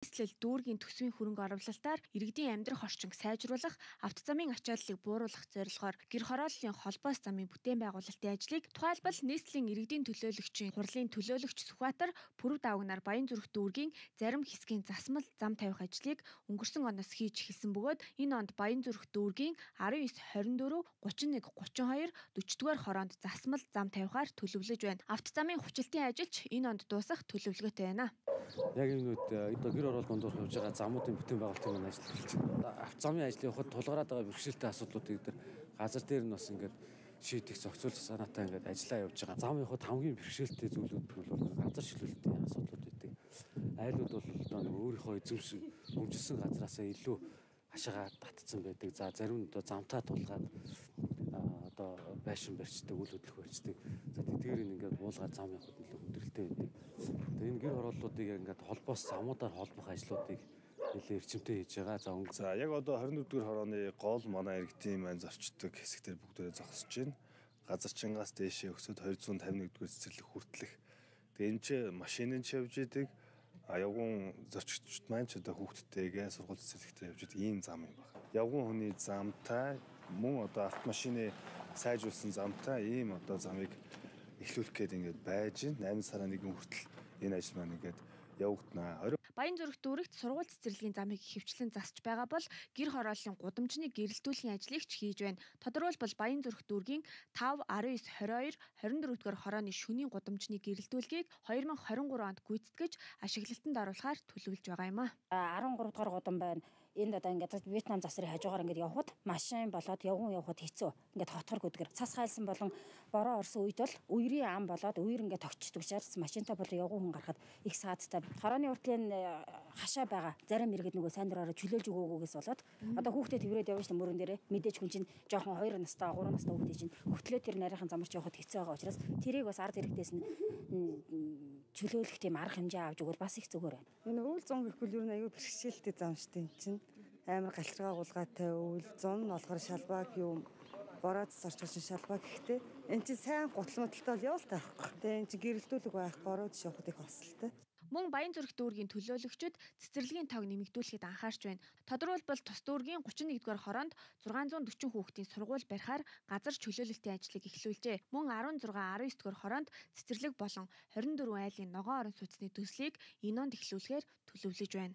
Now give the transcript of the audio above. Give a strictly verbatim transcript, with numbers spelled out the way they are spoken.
Нийслэл дүүргийн төсвийн хөрөнгө оруулалтаар иргэдийн амьдрах орчинг сайжруулах, авто замын ачааллыг бууруулах зорилгоор гэр хорооллын холбоос замын бүтээн байгуулалтын ажлыг тухайлбал нийслэлийн иргэдийн төлөөлөгчийн хурлын төлөөлөгч Сүхбаатар Пүрэв Давагнаар Баянзүрх дүүргийн зарим хэсгийн засмал зам тавих ажлыг өнгөрсөн оноос хийж эхэлсэн бөгөөд энэ онд Баянзүрх дүүргийн арван девять, хорин дөрөв, гучин нэг, гучин хоёр, дөрвдүгээр хороонд засмал зам тавихаар төлөвлөж байна. Авто замын хүчилтийн ажилч энэ онд дуусах төлөвлөгөөтэй байна. Яг энэ үед одоо гэр орол дондор явж байгаа замуудын бүтээн байгуулалтын ажил эхэлж байна. Авто замын ажлын явахад тулгараад байгаа бэрхшээлтэй асуудлуудыг дээр газар дээр нь бас ингээд шийдэх зохицуулах санаатай ингээд ажиллаа явж байгаа. Зам явахад хамгийн бэрхшээлтэй зүйлүүд бол газар шилүүлэлтийн асуудлууд байдаг. Айлууд бол одоо өөрийнхөө эзэмшин өмжилсөн газараасаа илүү хашаагаа татцсан байдаг. За зарим нь одоо замтаа тулгаад одоо байшин барьцдаг, үйл хөдлөх барьцдаг. За тэдгээр нь ингээд буулгаад зам явахад илүү хүндрэлтэй байдаг. Тэгээ энэ гэр хорооллуудыг ингээд холбоос замуудаар холбох ажлуудыг нэлээд эрчимтэй хийж байгаа. За өнгө. За яг одоо хорин дөрвдүгээр хорооны гол манай иргэдийн маань зорчдог хэсэгтэр бүгдээрээ зогсож байна. Газарчингаас дээшээ өсөд хоёр зуун тавин нэгдүгээр цэцэрлэг хүртэлх. Тэгээ энэ ч машинын ч явж идэг. А явган зорчигчд маань ч одоо хүүхдтэйгээ сургууль цэцэрлэгтээ явж идэг ийм зам юм байна. Явган хүний замтай мөн одоо автомашины сайжруулсан замтай ийм одоо замыг эхлүүлэх гээд ингээд байж найман сарын нэгэн хүртэл энэ ажил маань ингээд явагдана. Баянзүрх дүүрэгт сургууль цэцэрлэгийн замыг хөвчлэн засч байгаа бол гэр хорооллын гудамжны гэрэлтүүлгийн ажлыг ч хийж байна. Тодорхойлбол Баянзүрх дүүргийн тав, арван девять, хорин хоёр, хорин дөрвдүгээр хорооны шөнийн гудамжны гэрэлтүүлгийг две тысячи двадцать три онд гүйцэтгэж ашиглалтанд оруулахаар төлөвлөж байгаа юм а. арван гурав дахь гудам байна. Энд одоо ингээд Вьетнам засрын хажуугаар ингээд явхад машин болоод явган явхад хэцүү. Ингээд хотгор гүдгэр цас хайлсан болон бороо орсон үед бол үерийн ам болоод үер ингээд тогтчдөг шаарц машинтай болоо явган хүн гарахад их саадтай. Хорооны уртлын хашаа байгаа зарим иргэд нөгөө сайн дураараа чөлөөлж өгөөгөөс болоод одоо хүүхдэд тэврээд явж мөрөн дээрээ мэдээж хүн чинь жоохон хоёр настай, гурван настай хүүхдээ чинь хөтлөө тэр нарийнхан замарч явахад хэцүү байгаа учраас тэрийг бас ард иргэдээс нь чөлөөлөх тийм арга хэмжээ авч өгвөл бас их зүгээр байна. Энэ үйл зун гэхүүл юу нэг аюу бэрхшээлтэй зам штэ энэ чинь амар галчиргаа гулгаатай үйл зун нь болохоор шалбааг юм бороод зарчуулсан шалбаа гэхдээ энэ чинь сайн гутал модалтай бол явал таахгүй. Тэгээ энэ чинь гэрэлтүүлэг байх бороод шавхад их хосолтой. Мөн Баянзүрх дүүргийн төлөөлөгчид цэцэрлэгийн тоог нэмэгдүүлэхэд анхаарч байна. Тодорхойлбол тус дүүргийн гучин нэгдүгээр хороонд зургаан зуун дөрвөн хүүхдийн сургууль барихаар газар чөлөөлөлтийн ажлыг эхлүүлжээ. Мөн арван зургаан, арван девять дугаар хороонд цэцэрлэг болон хорин дөрвөн айлын ногоон орон сууцны төслийг энэ онд эхлүүлэхээр төлөвлөж байна.